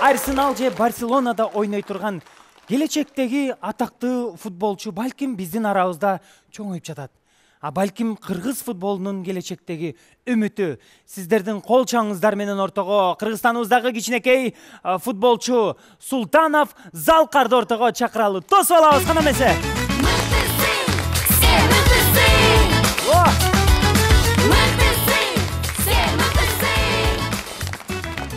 Арсенал же Барселонада ойной турган келечектеги атактуу футболчу балким биздин арабызда чоңоюп жатат. А балким кыргыз футболунун келечектеги үмүтү сиздердин кол чаңыңыздар менен ортого Кыргызстаныбыздагы кичинекей футболчу Султанов Залкарды ортого чакыралы. Тосуп алабыз кана эмесе.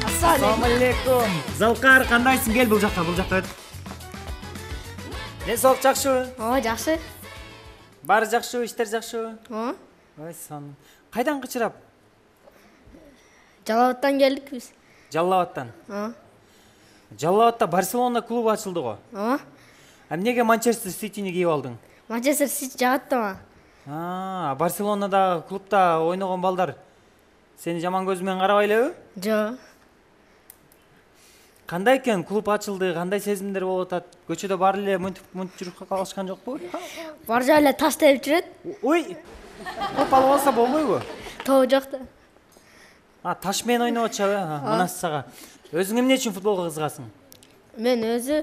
Ассалам алейкум. Залкар, кандайсың? Кел бул жакка өт. Не соолук жакшыбы? Ооба, жакшы. Баары жакшыбы, иштер жакшыбы? Ооба. Ой, сон. Кайдан кычырап? Жалал Абадтан келдик биз. Жалал Абадтан. Ооба. Жалал Абадта Барселона клубу ачылды го. Ооба. Эмнеге Манчестер Ситини кийип алдың? Манчестер Сити жагат да мага. Барселонада клубда ойногон балдар сени жаман көз менен карабай элеби? Жок. Кандай экен, клуб ачылды, кандай сезимдер болуп атат? Көчөдө баары эле мынтип жүрүп калышкан жокпу? Бар жай эле таш терип жүрөт. Ой. Топ алып алса болбойбу? Тобу жок да. Таш менен ойноп атышабы? Мына сага. Өзүң эмне үчүн футболго кызыгасың? Мен өзү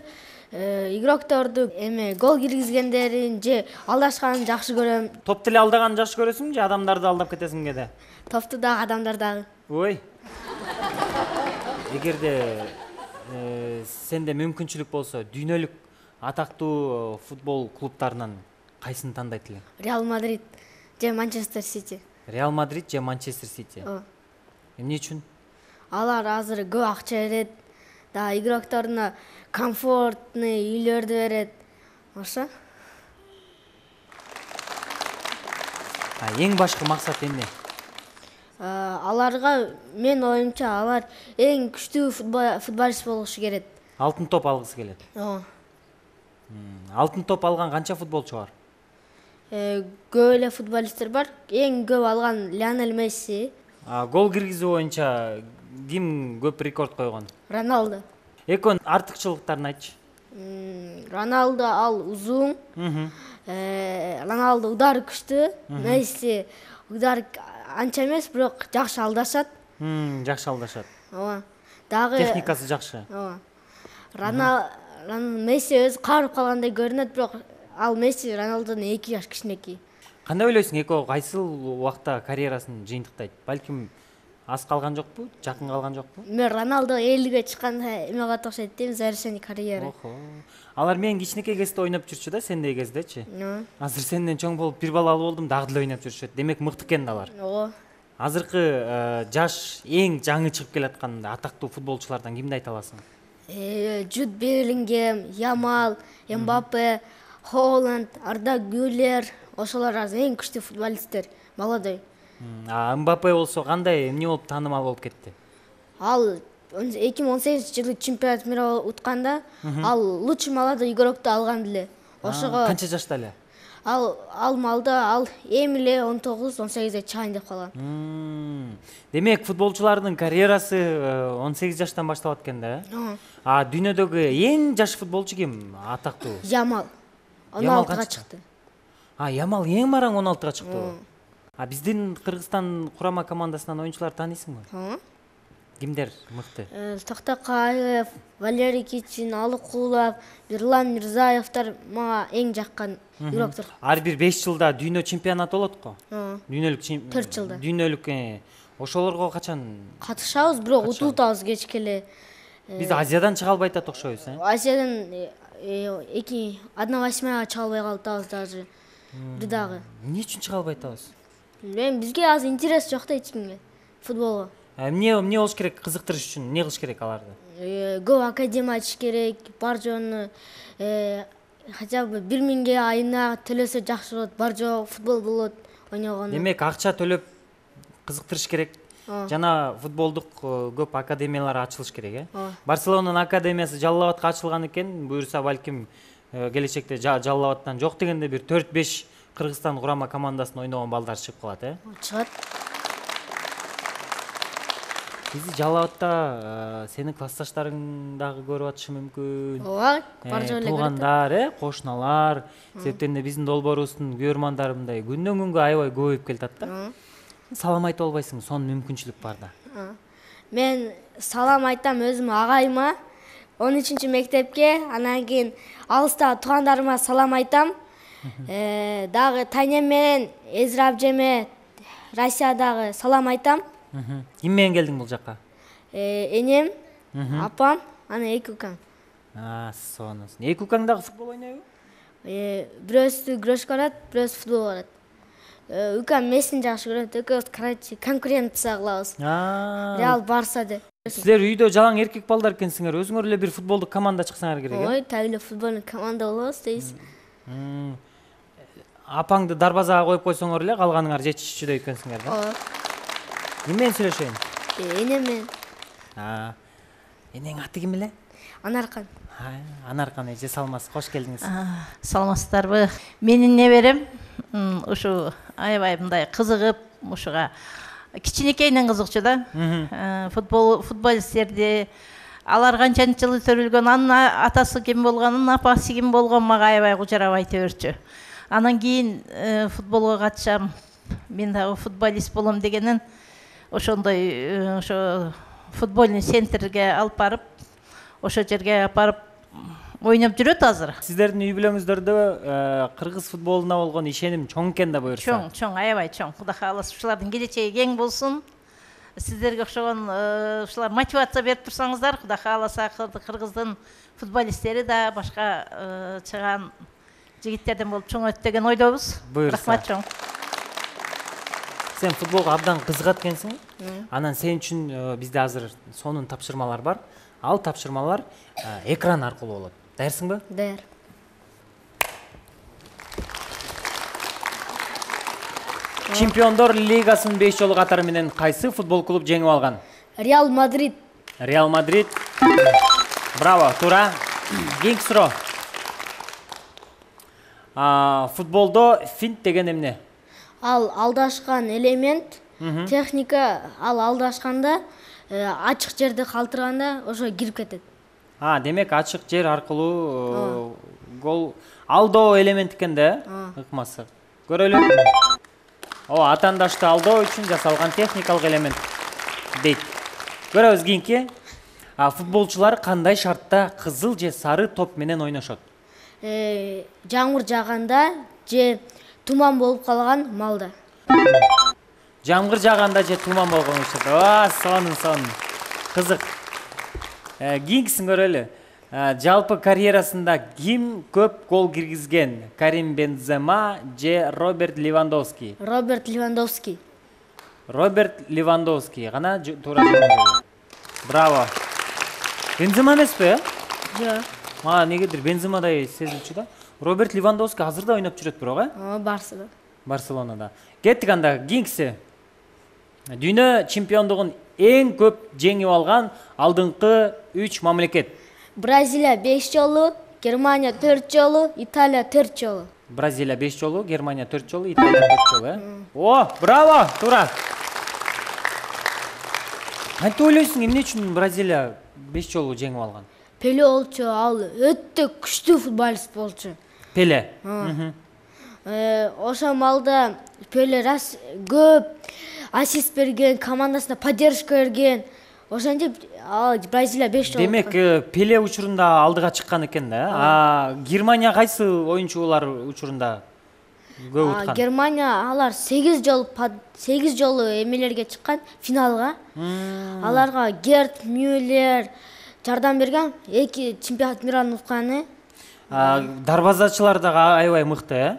игрокторду гол киргизгендерин же алдашканын жакшы көрөм. Топ деле алдаганын жакшы көрөсүң же адамдарды алдап кетесиң кеде? Топту дагы, адамдар дагы. Ой. Эгерде сенде мүмкүнчүлүк болсо, дүйнөлүк атактуу футбол клубтарынан кайсыны тандайт элең? Реал Мадрид же Манчестер Сити. Реал Мадрид же Манчестер Сити? Ооба. Эмне үчүн? Алар азыр көп акча берет, да игрокторуна комфортный үйлөрдү берет. Ошо. Эң башкы максат эмне? Аларга мен оюмча алар эң күчтүү футболист болушу керек. Алтын топ алгысы келет. Ооба. Алтын топ алган канча футболчу бар? Көп эле футболисттер бар. Эң көп алган Лионель Месси. Гол киргизүү боюнча ким көп рекорд койгон? Роналдо. Экөөнүн артыкчылыктарын айтчы. Роналдо ал узун. Роналдо удары күчтүү. Месси удар анча эмес, бирок жакшы алдашат. Жакшы алдашат. Ооба. Дагы техникасы жакшы. Ооба. Месси өзү каарып калгандай көрүнөт, бирок ал Месси Роналдодон 2 жаш кичинекей. Кандай ойлойсуң, экөө кайсыл убакта карьерасын жыйынтыктайт? Балким аз калган жокпу, жакын калган жокпу? Мен Роналдо 50ге чыкканда эме кылат окшойт дейм, завершение карьеры. Алар менен кичинекей кезде ойноп жүрчү да, сендей кездечи. Азыр сенден чоң болуп бир балалуу болдум, дагы деле ойноп жүрүшөт. Демек мыкты экен алар. Ооба. Азыркы жаш эң жаңы чыгып келаткан атактуу футболчулардан кимди айта аласың? Джуд Беллингем, Ямал, Мбаппе, Холланд, Арда Гюллер, ошолор эң күчтүү футболисттер, молодой. Мбаппе болсо кандай, эмне болуп таанымал болуп кетти? Ал 2018-жылы чемпионат мира утканда ал лучший молодой игрокту алган деле. Ошого канча жашта эле? Ал малда ал эми эле 19-18 чыгайын деп калган. Демек футболчулардын карьерасы 18 жаштан башталат экен да? Дүйнөдөгү эң жаш футболчу ким? Атактуу? Ямал. 16-га чыкты. Ямал эң мараң 16-га чыкты. Биздин Кыргызстан курама командасынан оюнчулар тааныйсыңбы? Кимдер мыкты? Токтокаев, Валерий Кичин, Алыкулов, Бирлан Мирзаевдер мага эң жаккан игроктор. Ар бир 5 жылда дүйнө чемпионаты болот го. Дүйнөлүк 4 жылда. Дүйнөлүк ошолорго качан катышабыз, бирок утултабыз кечке эле. Биз Азиядан чыга албай атат окшойбуз, Азиядан 1/8 чыга албай калдыбыз даже. Бир дагы. Эмне үчүн чыга албай атабыз? Бизге азыр интерес жок да эч кимге футболго. Эмне болуш керек, кызыктырыш үчүн эмне кылыш керек аларды? Көп академия ачыш керек, бар жоonu хотя бы 1000 айына төлөсө жакшы болот, бар жоо футбол болот ойногону. Демек акча төлөп кызыктырыш керек. Жана футболдук көп академиялар ачылыш керек, Барселонанын академиясы Жалал Абадка ачылган экен, буюрса балким келечекте Жалал Абадтан жок дегенде бир 4-5 Кыргызстан курама командасында ойногон балдар чыгып калат, Чыгат. Бизи Жалал Абадта сенин классташтарың дагы көрүп атышы мүмкүн. Ооба, бар жоо эле. Туугандар, кошуналар, себептен биздин долбоорубуздун көрөрмандары мындай күндөн күнгө аябай көбөйүп келатат да. Салам айтып албайсың, сонун мүмкүнчүлүк бар да. Мен салам айтам өзүм агайыма, 13 мектепке, анан кийин алыстагы туугандарыма салам айтам. Дагы Таня менен Эзра абжеме Россиядагы салам айтам. Ким менен келдиң бул жакка? Энем, апам, анан 2 укам. Сонун. 2 укаң дагы футбол ойнойбу? Бирөөсү күрөшкө барат, бирөөсү футбол барат. Укам Мессини жакшы көрөт, экөөбүз короче конкуренция кылабыз. Реал Барса деп. Силер үйдө жалаң эркек балдар экенсиңер, өзүңөр эле бир футболдук команда чыксаңар керек. Ой, так эле футболдук команда болобуз дейсиз. Апаңды дарбазага коюп койсоңор эле калганыңар жетишчүдөй экенсиңер да? Ким менен сүйлөшөйүн? Энем менен. Энең аты ким эле? Анаркан. Анаркан эже саламатсыз, кош келдиңиз. Саламатсыздарбы? Менин неберем ушу аябай мындай кызыгып, ушуга кичинекейинен кызыкчу да. Футболисттерди алар канчанчы жылы төрөлгөн, анын атасы ким болгон, анын апасы ким болгон мага аябай кужарап айта берчү. Анан кийин футболго катышам, мен дагы футболист болом дегенин ошондой ошо футбольный центрге алып барып, ошо жерге апарып ойноп жүрөт азыр. Сиздердин үй бүлөңүздөрдө кыргыз футболуна болгон ишеним чоң экен да буюрса. Чоң, аябай чоң. Кудай кааласа ушулардын келечеги кең болсун. Сиздерге окшогон ушулар мотивация берип турсаңыздар, Кудай кааласа кыргыздын футболисттери да башка чыган жигиттерден болуп чоңойт деген ойдобуз. Рахмат чоң. Сен футболго абдан кызыгат экенсиң. Анан сен үчүн бизде азыр сонун тапшырмалар бар. Ал тапшырмалар экран аркылуу болот. Даярсыңбы? Даяр. Чемпиондор лигасынын 5 жолу катары менен кайсы футбол клуб жеңип алган? Реал Мадрид. Реал Мадрид. Браво, туура. Кийинки суроо. Футболдо финт деген эмне? Ал алдашкан элемент, техника, ал алдашканда ачык жерди калтырганда ошо кирип кетет. Демек ачык жер аркылуу гол алдоо элемент экен да, ыкмасы. Көрөлү. Атандашты алдоо үчүн жасалган техникалык элемент дейт. Көрөбүз кийинки. Футболчулар кандай шартта кызыл же сары топ менен ойношот? Жамгыр жааганда же туман болуп калган малда. Жамгыр жааганда же туман болгон учурда. Сонун. Кызык. Кийинкисин көрөлү. Жалпы карьерасында ким көп гол киргизген? Карим Бензема же Роберт Левандовский? Роберт Левандовский. Роберт Левандовский. Гана туура жооп. Браво. Бензема эмеспи? Жок. Негедир Бенземадай сезилчү да. Роберт Левандовский азыр да ойноп жүрөт бирок, Барсада. Барселонада. Кеттик анда, кийинкиси. Дүйнө чемпиондугун эң көп жеңип алган алдыңкы 3 мамлекет. Бразилия 5 жолу, Германия 4 жолу, Италия 4 жолу. Бразилия 5 жолу, Германия 4 жолу, Италия 4 жолу. Браво, туура. Кантип ойлойсуң, эмне үчүн Бразилия 5 жолу жеңип алган? Пеле болчу, ал өтө күчтүү футболист болчу. Пеле. Ошо малда Пеле көп ассист берген, командасына поддержка берген. Ошентип Бразилия 5 жолу. Демек, Пеле учурунда алдыга чыккан экен да. Германия кайсы оюнчулар учурунда көп уткан? Германия алар 8 жолу эмелерге чыккан, финалга. Аларга Герт Мюллер жардам берген, 2 чемпионат мираны утканы. Дарбазачылар да аябай мыкты,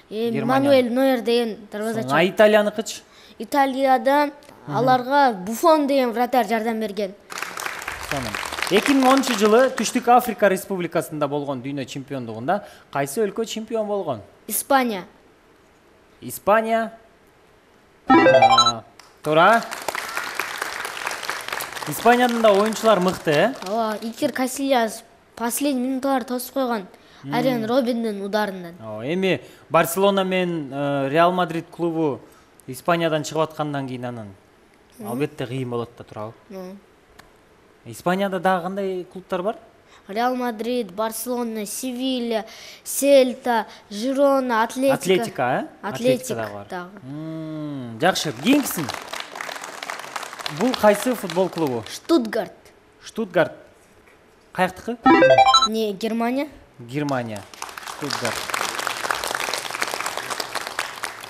Мануэль Нойер деген дарбазачы. Италияныкычы? Италияда аларга Буфон деген вратарь жардам берген. 2010 жылы Түштүк Африка Республикасында болгон дүйнө чемпиондугунда кайсы өлкө чемпион болгон? Испания. Испания. Туура. Испаниядын да оюнчулар мыкты, Икер Касильяс последний минуттар тосуп койгон. Ариан Робиндин ударынан. Эми Барселона менен Реал Мадрид клубу Испаниядан чыгып аткандан кийин анан албетте кыйын болот да, туурабы? Испанияда дагы кандай клубтар бар? Реал Мадрид, Барселона, Севилья, Сельта, Жирона, Атлетика. Атлетика дагы. Жакшы, кийинкисин. Бул кайсы футбол клубу? Штутгарт. Штутгарт. Каяктыкы? Не, Германия. Германия. Штутгарт.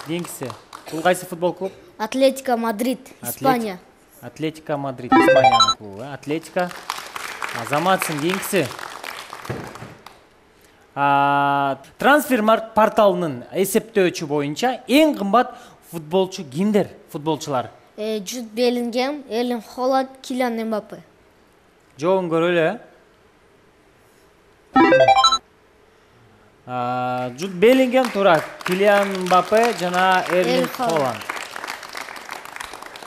Кийинкиси. Бул кайсы футбол клуб? Атлетика Мадрид, Испания. Атлетика Мадрид, Испаниянын клубу. Атлетика. Азаматсың. Кийинкиси. Трансфермаркт порталынын эсептөөчү боюнча эң кымбат футболчу кимдер? Футболчулар. Джуд Беллингем, Эрлинг Холланд, Килиан Мбаппе. Жообун көрөлү. Джуд Беллингем туура, Килиан Мбаппе жана Эрлинг Холланд.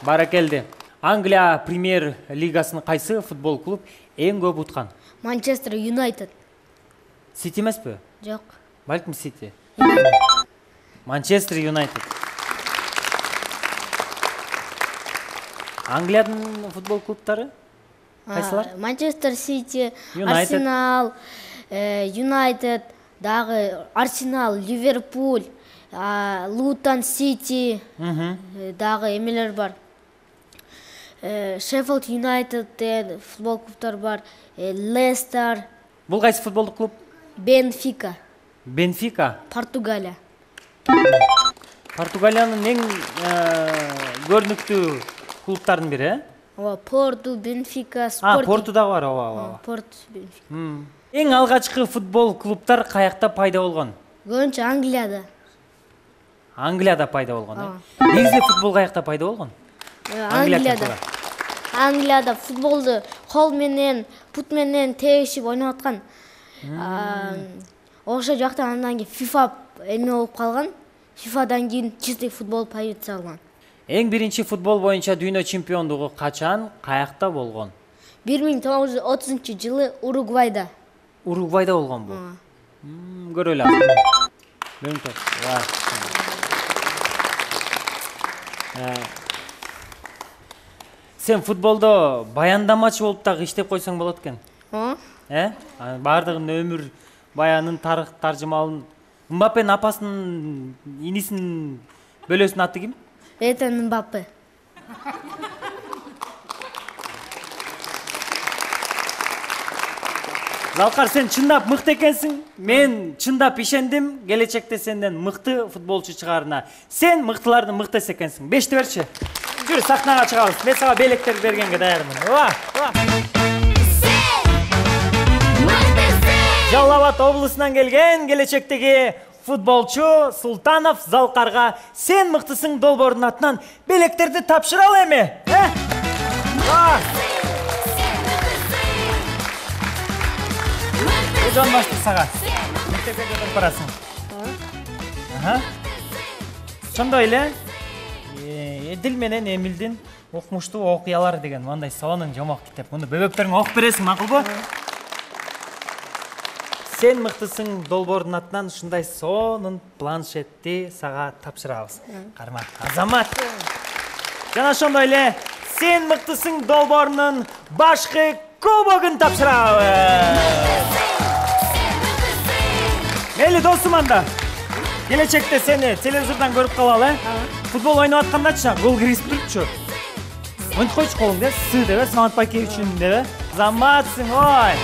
Баракелди. Англия премьер лигасынын кайсы футбол клуб эң көп уткан? Манчестер Юнайтед. Сити эмеспи? Жок. Балким Сити. Манчестер Юнайтед. Англиянын футбол клубтары кайсылар? Манчестер Сити, Юнайтед. Арсенал, Юнайтед, дагы Арсенал, Ливерпуль, Лутон Сити, дагы эмелер бар. Шеффилд Юнайтед футбол клубтар бар, Лестер. Бул кайсы футболдук клуб? Бенфика. Бенфика. Португалия. Португалиянын эң көрүнүктүү клубтардын бири, Порту, Бенфика, Порту да бар, ооба. Порту, Бенфика. Эң алгачкы футбол клубтар каякта пайда болгон? Көбүнчө Англияда. Англияда пайда болгон, Негизи футбол каякта пайда болгон? Англияда. Англияда футболду кол менен, пут менен тегишип ойноп аткан. Ошол жакта андан кийин FIFA эме болуп калган. FIFAдан кийин чистый футбол появиться алган. Эң биринчи футбол боюнча дүйнө чемпиондугу качан, каякта болгон? 1930-жылы Уругвайда. Уругвайда болгон бул. Көрөлү азыр. Сен футболдо баяндамачы болуп дагы иштеп койсоң болот экен. Баардыгын өмүр баянын, тарых таржымалын. Мбаппенин апасынын инисинин бөлөсүнүн аты ким? Этен Мбаппе. Залкар, сен чындап мыкты экенсиң. Мен чындап ишендим, келечекте сенден мыкты футболчу чыгарына. Сен мыктылардын мыктысы экенсиң. 5-ти берчи. Жүр, сахнага чыгабыз. Мен сага белектер бергенге даярмын. Жалал Абад облусунан келген келечектеги футболчу Султанов Залкарга сен мыктысың долбоордун атынан белектерди тапшыралы эми. Жон башты сага. Мектепке кетип барасың. Ошондой эле Эдил менен Эмилдин укмуштуу окуялары деген мындай сонун жомок китеп. Муну бөбөктөрүңө окуп бересиң, макулбу? Сен мыктысың долбоордун атынан ушундай сонун планшетти сага тапшырабыз. Карма, Азамат. Жана ошондой эле сен мыктысың долбоорунун башкы кубогун тапшырабыз. Мейли досум, анда келечекте сени телевизордон көрүп калалы. Футбол ойноп аткандачы гол киргизип турчу. Монтип койчу колуңду, сы деп, Самат Байкевичтин деп. Заматсың, ой.